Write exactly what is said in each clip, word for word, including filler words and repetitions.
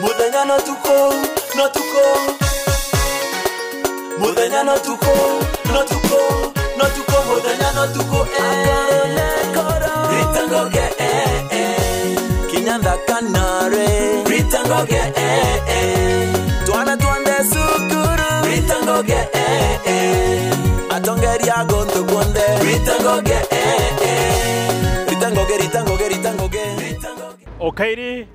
Muthenya no tuku, no tuku. Muthenya no tuku, no tuku, no tuku, muthenya no tuku, eh. Rita Ngugi, eh, eh. Kinya nthaka nare. Rita Ngugi, eh, eh. Twana twa nde cukuru. Rita Ngugi, eh, eh. Atongeria guntu kunthe. Rita Ngugi, eh, eh. Rita Ngugi, Rita Ngugi, Rita Ngugi. Rita Ngugi. O kairi,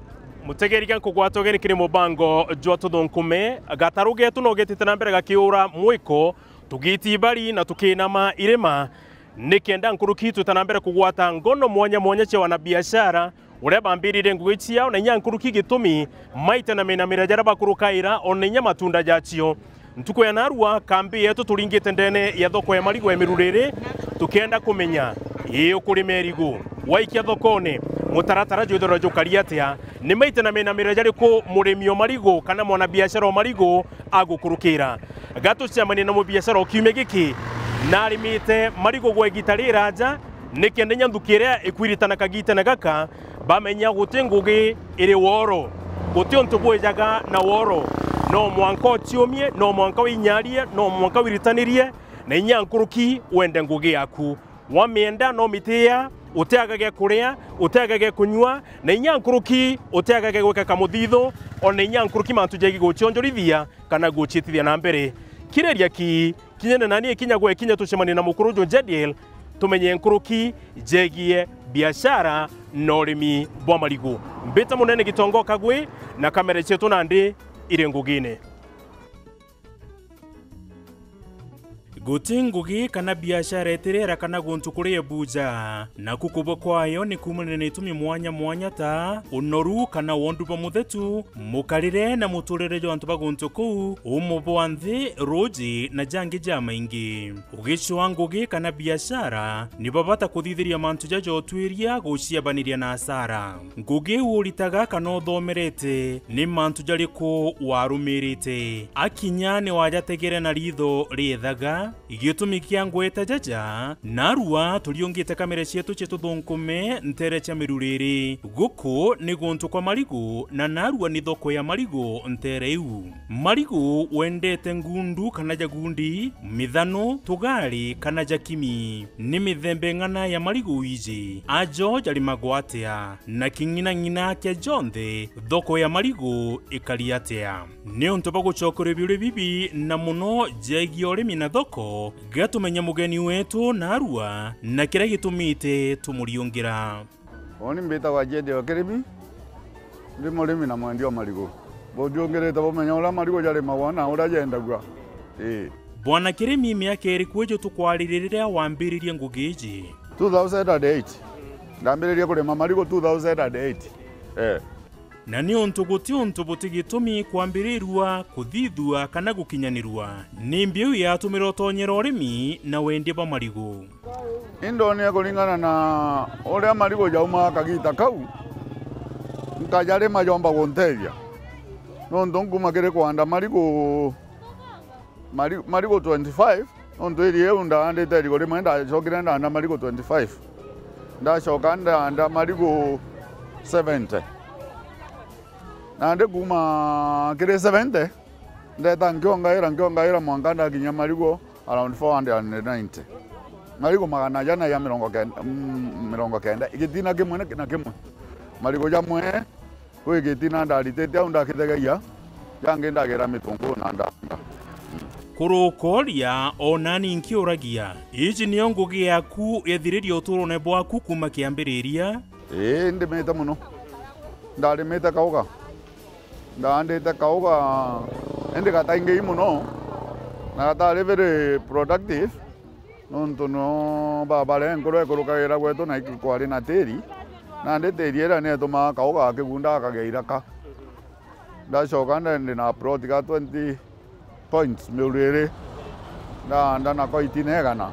mutegeri ga nkugwata ugeni kiri mubango jwa Tuthunkume. Gataru geetu no getite na mbere gakiura mwiko, tugiti ibari na tukinama irima, nikenda nkuruki twita na mbere kugwata ngono mwanya mwanya cia wanabiashara, uria bambirire ngugi ciao, na inya nkuruki gitumi maita na minamira jaria bakurukaira, o na inya matunda jacio. Ntuku ya narua, kambi yetu turingite ndene ya thoko ya marigu ya Miruriri, tukienda kumenya, ii ukurima irigu? Waikia thokone, mutaratara jwithirwa jukari atia? Ni maita na minamira jariku murimi o marigu kana mwanabiashara o marigu agukurukira? Gatucemania na mubiashara o kiumia giki, narimite marigu gwa igita riraja, nikenda inya nthuki iria ikwiritana kagitene gaka, bamenya guti ngugi iri woro, guti untu bwijaga na woro. No mwanka uciumie, no mwanka winyarie, no mwanka wiritanirie, na inya nkuruki wende ngugi yaku. Wamienda no mitia, utiaga gia kuria, utiaga gia kunyua, na inya nkuruki utiaga gia gwika kamuthithu, ona inya nkuruki mantu jegi gucionjorithia kana guciitithia na mbere. Kiriria ki, kinyene nani ikinya gwe kinya tucemanie na mukuru uju Jediel, tumenye nkuruki jegie biashara na urimi bwa marigu. Mbita munene Gitongo Kagwi, na kamera cietu nandi iri ngugine. Guti ngugi kana biashara itirera kana guntu kuri ebuja. Naku kubwa kwayo ni kuumania na itumi mwanya mwanya ta unoru kana wondu bwa muthetu, mukarire na muturire jwa antu ba guntu kuu, umo bwa nthi, ruuji na jangi jamaingi. Ugicwaa ngugi kana biashara, ni bwa bata kuthithiria mantu jaja utwiria guciabaniria na asara. Ngugi iu uritaga kana uthomerete, ni mantu jariku warumirite? Akinya ni wajategere na riitho riethaga? Gitumi kia ngweta jaja, narua turiungite kamera cietu cia Tuthunkume nteere cia Miruriri. Guku ni guntu kwa marigu, na narua ni thoko ya marigu nteere iu. Marigu wendete ngundu kana ja gundi, mithanu, tugari kana ja kimi. Ni mithemba ing'ana ya marigu wiji? Ajo jarimagwa atia? Na king'inang'ina kia jonthe, thoko ya marigu ikari atia? Niuntu bwa gucokeria biuria bibi na mono jegie urimi na thoko, ga tumenye mugeni wetu narua na kiria gitumite tumuriungira. Uuni mbitagwa Jedi wa Kirimi, ndi murimi na mwendia wa marigu. Buthiungirite bumenya uria marigu jarimagwa na uria jendagua. Ii. Bwana Kirimi, miaka iriku iju tukwaririria riria wambiririe ngugi iji? Two thousand and eight. Ndambiririe kurima marigu two thousand and eight. Ee. Na niuntu guti untu buti gitumi kwambirirua, kuthithua kana gukinyanirua, ni mbiu yatumire utonyera urimi na wendia bwa marigu. Indonire kuringana na uria marigu jaumaga kagita kau, nkajarima jomba guntethia. Nontu nkuma kiri kwanda marigu, mari-, marigu twenty-five, nontu iri iu ndaandite irigu rimwe, ndacokire ndaanda marigu twenty-five. Ndacoka ndaanda marigu seventy. Nandi kuma kiri seventy, ndeta nkiongaira, nkiongaira mwanka ndakinya marigu around four hundred and ninety. Marigu magana jana ya mirongo kenda, mm, mirongo kenda. Gitina kimwe na, na kimwe. Marigu jamwe, kwi gitina ndaritite au ndakithegeria, jangi ndagira mitunguru na ndanga. Kurukoria, o nani nkiuragia, iji niyo ngugi yaku yethiririe uturone bwaku kuma kiambiriria? Ii, ndimite mono. Ndarimite kauga. Ndaandite kauga, indi gataingii mono, na gatari very productive, nontu no babare nkuru ikurukagira gwetu na ikwari na tiri, nandi tiri iria nietumaga kauga gakigunda gakagia iraka. Ndacoka nda-, ndi na plot ga twenty points Miruriri, ndaanda nako itina igana.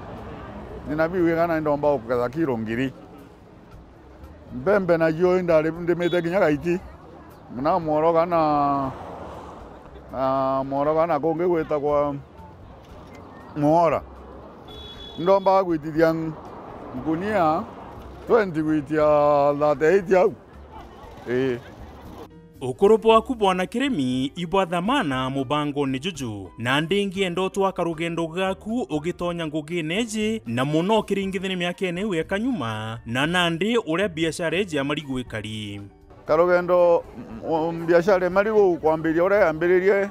Ndina biu igana indomba guketha kiro ngiri. Mbembe nacio indari ndimite kinya gaiti. Na mworoga na, na mworoga na kungi gwitagwa Mwora. Ndombaga gwitithia ngunia twenty gwitia thirty-eight au. Ii. Ukuru bwaku bwana kirimi ibwa thamana mubangone juju, na ndingienda utwaka rugendo gaku ugitonya ngugine iji, na muno ukiringithania miakene iu eka nyuma, na nandi uria biashara iji ya marigu ikari. Karugendo, m-, m-, biashara ya marigu kwambiria uria yambiririe,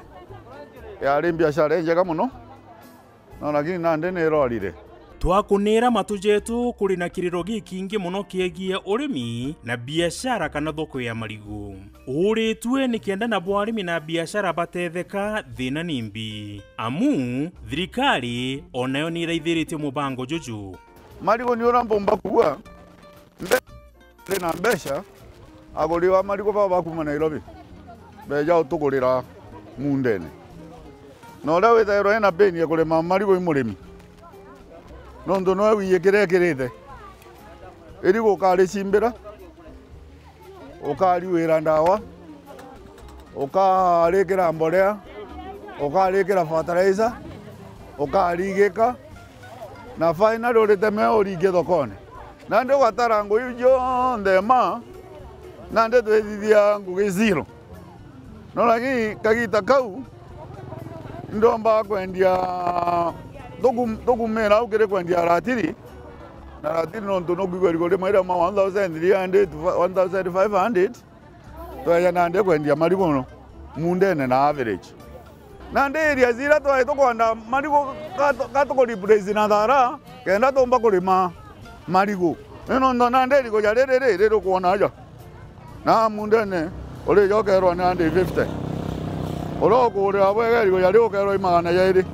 yari biashara injega muno. No, lakini nandi ni irorire. Twakunira matu jetu kuri na kiriro gikingi muno kiegie urimi na biashara kana thoko ya marigu. Uuritue ni kenda nabo arimi na biashara batetheka, thina ni mbi. Amu, thirikari o nayo ni iraithiritie mubango juju. Marigu ni uria mpumba kuuga, mbe- Ari na mbeca, aguri ba marigu baba bakuma Nairobi, beja utugurira muundene. Na uria withairwa ena pain ya kurima marigu i murimi, nontu noe wiye kiria ekirite. Irigu ukaricimbira, ukariwira ndawa, ukarikira mborea, ukarikira fertilizer, ukarigika, na finally uritemea uringie thokone. Nandi ugatara ngugi iu cionthe ma, nandi twithithia ngugi zero. No lakini kagita kau, ndomba kwendia, tukum-, tukumira au kiri kwendia ratiri, na ratiri nontu nukwigua irigu rimwe riauma one thousand three hundred to one thousand five hundred, tweja nandi kwendia marigu muundene na average. Nandi area zira twai tukwenda marigu, ka tu-, ka tuku replace na thara, kenda tumba kurima marigu. Ni nontu nandi irigu ja riri ri, riri ukwona aja. Na muundene, urija ukerwa ni hundred fifty. Uria ukugurira bwega irigu ja riu ukerwa i magana jairi.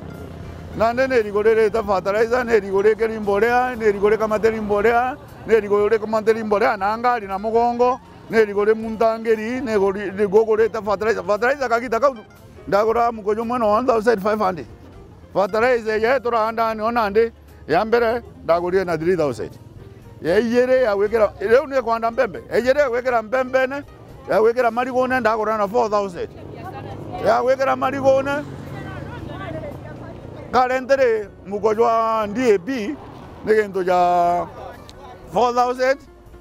Nandi ni irigu ririte fertilizer, ni irigu rikiri mborea, ni irigu rikamatiri mborea, ni irigu rikamatiri mborea na ngari na mugongo. Ni irigu ri muntangiri, ni irigu ri-, irigu ugurite fertilizer. Fertilizer kagita kau ndagura muko jumwe na one thousand five hundred. Fertilizer ya turanda ni ona ndi ya mbere ndagurire na three thousand. Ya ijiri ya gwikira, riu ni kwanda mbembe. Ya ijiri ya gwikira mbembene, ya gwikira marigune ndagura na four thousand. Ya gwikira marigune, currently muko jwa D A P ni gintu ja four thousand.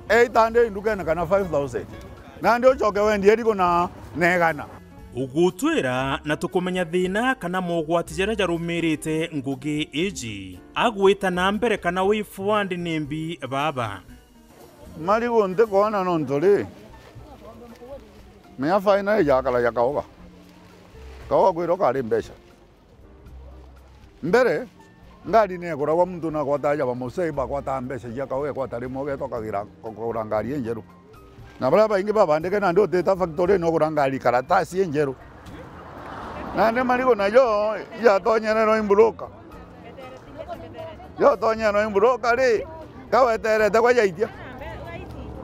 Eight hundred ndukene kana five thousand. Nandi ucoke wendie irigu na, na igana. Ugutwira na tukumenya thina kana mogwati jaria jarumirite ngugi iji. Agwita na mbere kana way forward ni mbi baba. Marigu ntikwona nontu ri, menya final ijakara ja kauga. Kauga kwirwa kari mbeca. Mbere, ngari ni eguragwa, muntu na agwata aja ba musei, bagwata mbeca cia kawe, egwata rimwe, ugetwa kagira kugura ngari injeru. Na baria baingi babandike nandi utita factory ni ugura ngari karatasi injeru. Nandi marigu najo, jatonyererwa i mburuka. Jatonyererwa i mburuka ri, kaweterete kwa jaitia.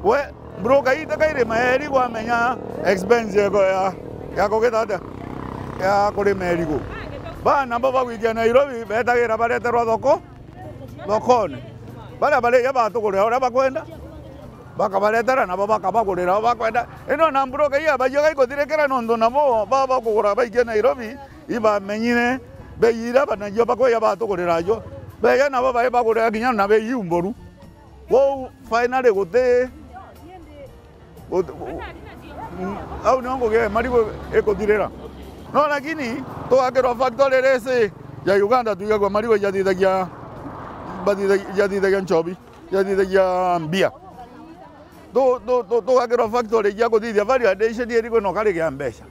We, broker ite kairima ya irigu amenya expense yako ya, ya kugita atia? Ya kurima irigu. Bana bo bagwikia Nairobi, betagira bareterwa thoko, thokone. Baria barija batugurira uria bakwenda, bakabaretera nabo bakabagurira uria bakwenda. Ino na broker iya bajiga ikuthirikira nontu nabo baba bakugura baikia Nairobi, ibamenyire bei iria banajio bakwija batugurira jo. Beja nabo bai bagurira kinya na bei iu mboru. Kwou finally guti, guti, gu-, mm, au nio ngugi ya marigu ikuthirira. No lakini tugakirwa factory risi ya Uganda, twigagua marigu ijathithagia, bathithagia, ijathithagia nchobi, ijathithagia mbia. Tu-, tu-, tu-, tugakirwa factory cia kuthithia value addition irigu no karigia mbeca.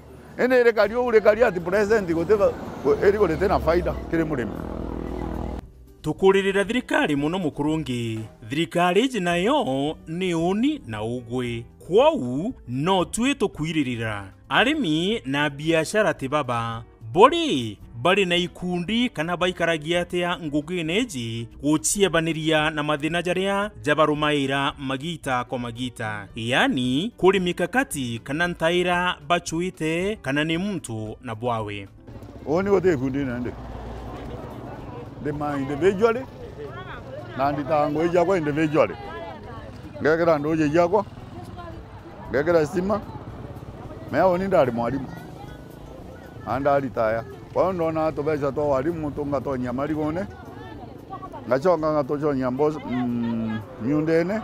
Indi irikari uu rikari at present guti va-, gu-, irigu riti na faida kiri murimi. Tukuririra thirikari mono mukurungi. Thirikari iji nayo ni uni na ugwi. Kwou no twi tukwiririra. Arimi na biashara ti baba. Bo ri, bari na ikundi kana baikaragia atia ngugine iji guciebaniria na mathina jaria jabarumaira magita kwa magita? Yaani, kuri mikakati kana ntaira bacuite kana ni muntu na bwawe? Uni guti gikundine ndi. Ndima individually, na nditaga ngugi ciakwa individually. Ngekira nduji ciakwa, ngekira stima. Mea uni ndari mwarimu. Na ndaritaya. Kwou ndona tubeca twa warimu tungatonyia marigune, ngacoka ngatuconia mbos-, mm, miundene.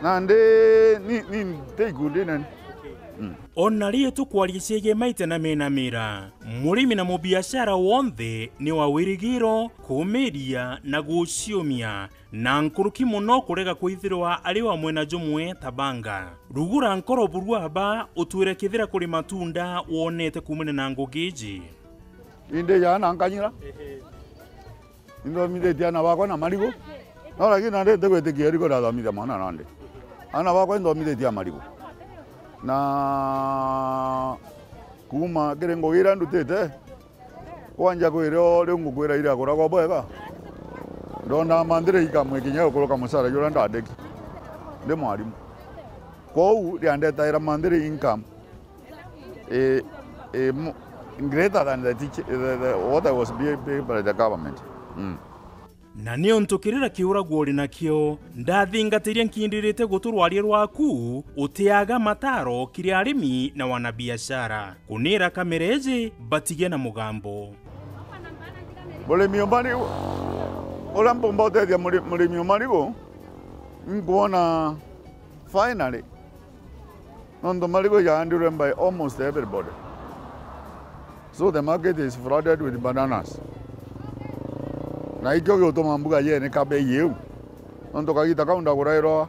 Nandi ni, ni nti ikundine ni. Ona ri tukwaria ciegii maite na mena mira, murimi na mubiashara wonthe ni wa wirigiro, kumiria na guciumia, na nkuruki mono kurega kwithirwa ari wa mwena jumwe ta banga. Rugura nkoro buru aba, utwire kethira kuri matunda wonete kuumania na ngugi iji. Indi jana nkanyira. Inthomithitie aana bakwa na marigu. No, lakini nandi ntigwitikia irigu ndathomithia mwana nandi. Aana bakwa inthomithitie a marigu. Na kuuma kiri ngugi iria ndutite, kwanja kwiri o riu ngukwira iria kuragwa bwega. Ndona manthiri ikamwe kinya gukuruka mucara juria ndandiki ndi mwarimu. Kwou riandetaira manthiri income, eh, eh, mo-, greater than the teach-, the, the, what I was being paid by the government. Mm. Na niuntu kirira kiuragwa uri nakio, ndathingatiria nkindirite gutu rwaria rwaku, utiaga mataro kiri arimi na wanabiashara. Kunira kamera iji, batige na mugambo. Murimi o marigu, uria mpumba utethia muri-, murimi o marigu, inkwona finally, nontu marigu jaandirwe by almost everybody. So the market is flooded with bananas. Na ikio giutuma mbuga yenika bei iu. Nontu kagita kau ndagurairwa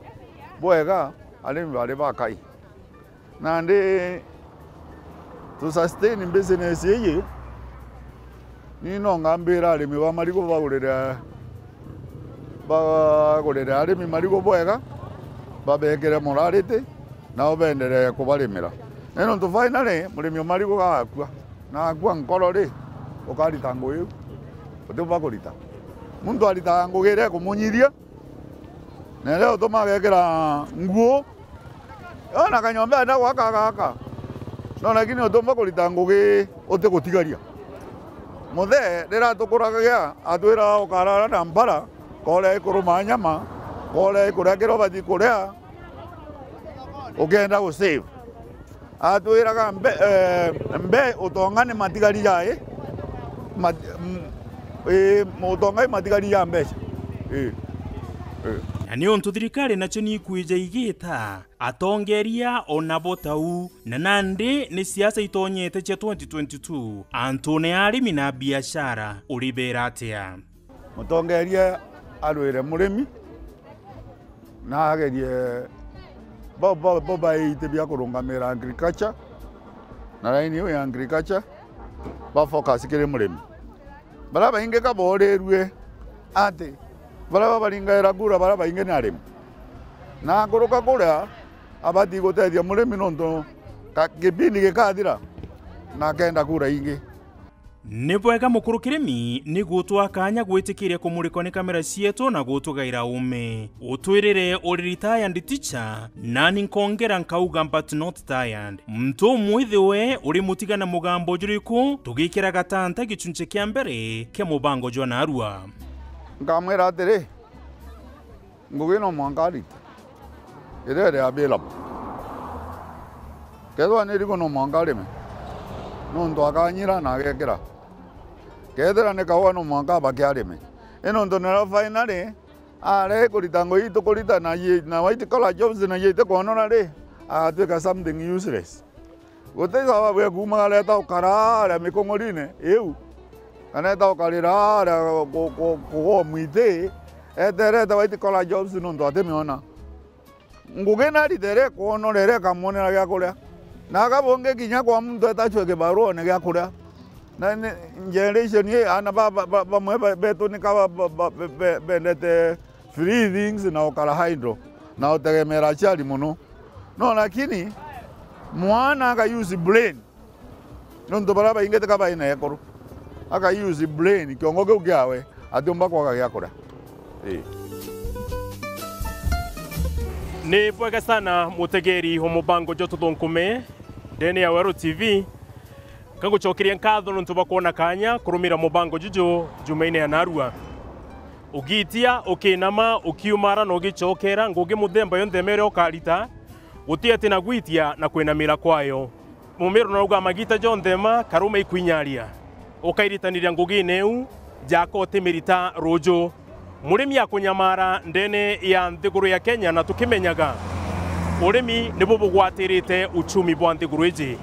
bwega, arimi bari bakai. Nandi to sustain business iji, ni no ngambira arimi ba marigu bagurire, bagurire arimi marigu bwega, babekire morality, nao beenderee kubarimira. Na nontu finally, murimi o marigu gagakua, na akua nkoro ri, ukarita ngugi iu? Utiumba kurita. Muntu aritaga ngugi iria ikumunyithia, na iria utuma agekira nguu, ona kanyomba enda gwaka agaka. No, lakini utiumba kurita ngugi utigutigaria. Muthee riria atukuragia, atwiraga ukarara na mbara, korea ikuruma nyama, korea ikuria kiria ubati kuria, ukienda gu save. Atwiraga mbe-, eh, mbe utonga ni matigari jai, mat-, m-, ii, utonga ni matigari ja mbeca. Ii. Ii. Na niuntu thirikari nacio ni ikwija igita, atongeria o nabo tau, na nandi ni siasa itonyete cia twenty twenty-two, antune ya arimi na biashara, uribera atia? Mutongeria arwire murimi, na agerie bo, bo, bo baite bia kurungamira agriculture, na line iu ya agriculture, ba focus kiri murimi. Baria baingi ka borirue ati baria babaringaira kura baria baingi ni arimi. Na akuruka kuria, abati gutethia murimi nontu ka-, kipindi gikathira, na akenda kura ingi. Ni bwega mukuru kirimi ni gutwa kanya gwitikiria kumurikwa ni kamera cietu na gutugaira ume. Utwirire uri retired teacher, nani nkongera nkauga but not tired. Muntu umwithiwe uri mutiga na mugambo juriku, tugikira gatanta gichunchi kia mbere kia mubango jwa narua. Nkamwira atiri, ngugi no mwanka arite iria iri available. Kethirwa ni irigu no mwanka arime, nontu akanyira na agekira. Kethira ni kaua no mwanka abake arime. I nontu nirio finally aria ikurita ngugi ii tukurita na yi-, na white collar jobs na yi itikwonora ri, agatwika something useless. Guti sababu ya kuumaga areta ukara aria mikung'urine iu, kana eta ukarira aria ku-, ku-, kugwa mwiti, eterete white collar jobs nontu atimiona. Ngugi narite iria ikwonora iria ikamwonera gia kuria. Na aka bungi kinya kwa muntu etachwe kibaruone gia kuria. Na ni generation ii, aana ba, ba, ba, bamwe ba, betu ni ka ba, ba, ba, be, be, bendete free things na ukara idle na utegemera aciari mono. No, lakini mwana aka use brain. Nontu baria baingi tika baina ekuru. Aka use brain, kiongo kiu kiawe, atiumba kwaga gia kuria. Ii. Ni bwega sana, mutegeri wa mubango jwa Tuthunkume ndene ya Weru T V. Nkagucokeria nkatho nontu bwa kwona kanya kurumira mubango juju jumaine ya narua. Ugitia, ukinama, ukiumara na ugicokera ngugi muthemba yonthe mere ukarita, guti ati na gwitia na kwinamira kwayo. Mumiru nauga magita jonthe ma karume ikwinyaria, ukairitanira ngugine iu, jaka utimirita ruju. Murimi akunyamara ndene ya nthiguru ya Kenya, na tukimenyaga Urimi nibu bugwatirite uchumi bwa nthiguru iji.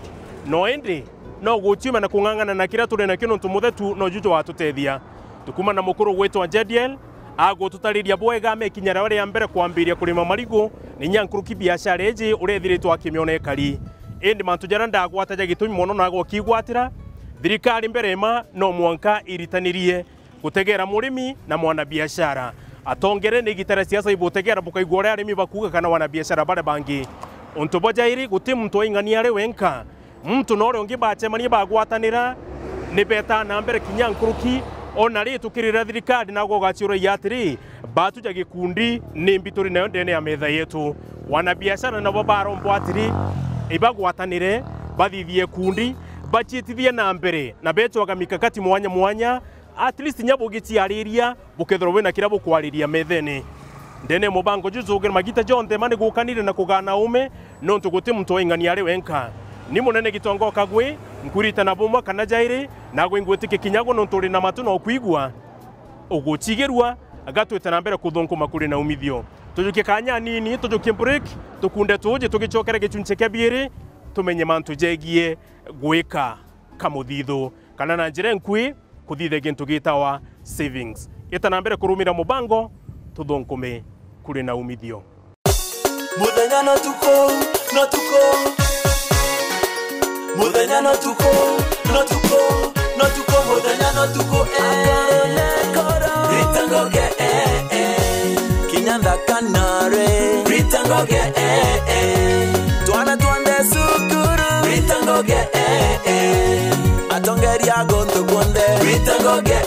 No indi, no guciuma na kung'ang'ana na kiria turi nakio, nontu muthetu noju jwatutethia. Tukuma na mukuru gwitwa Jediel, agututariria bwega mekinya riawe ria mbere kwambiria kurima marigu, ni nya nkuruki biashara iji uria ethiritwe akimiona ikari. Indi mantu jaria ndagwata ja gitumi mono na agokigwatira, thirikari mbere ima no mwanka iritanirie gutegera murimi na mwanabiashara. Atongere ni igita ria siasa ibutegera bukaigua uria arimi bakuuga kana wanabiashara baria bangi. Untu bwa jairi, guti muntu waing'ania ari wenka. Muntu na uria ungi bacemania bagwatanira, ni betaa na mbere kinya nkuruki. Ona ri tukirira thirikari nago ugaciuragia atiri, batu ja gikundi ni mbi turi nayo ndene ya metha yetu. Wanabiashara nabo barombwa atiri, ibagwatanire, bathithie ikundi, baciitithie na mbere na becwaga mikakati mwanya mwanya, at least nya bugiciariria bukethirwa bwina kiria bukwariria methene. Ndene ya mubango juju ugire magita jonthe mani gukanire na kugana ume, nontu guti muntu waing'ania ari wenka. Ni munene Gitonga Kagwe, nkuritana bumwe kana jairi, nagwe ingwitikia kinya gwe nontu uri na matu na ukwigua, ugucigirua, gatwite na mbere kuthunkuma kuri na umithio. Tujukie kanya nini, tujukie break, tukunde tuji tugicokere gicunci kia biiri, tumenye mantu jegie gwika kamuthithu, kana na njira inkui, kuthithia gintu gitawa savings. Ita na mbere kurumira mubango, tuthunkume kuri na umithio. Muthenya no tuku, no tuku. Muthenya no tuku, no tuku, no tuku, muthenya no tuku, eh. Rita ngoge, eh, eh. Kinya ndakanare. Rita ngoge, eh, eh. Twana twande cukuru. Rita ngoge, eh, eh. Atongeria guntu kuonthe. Rita ngoge,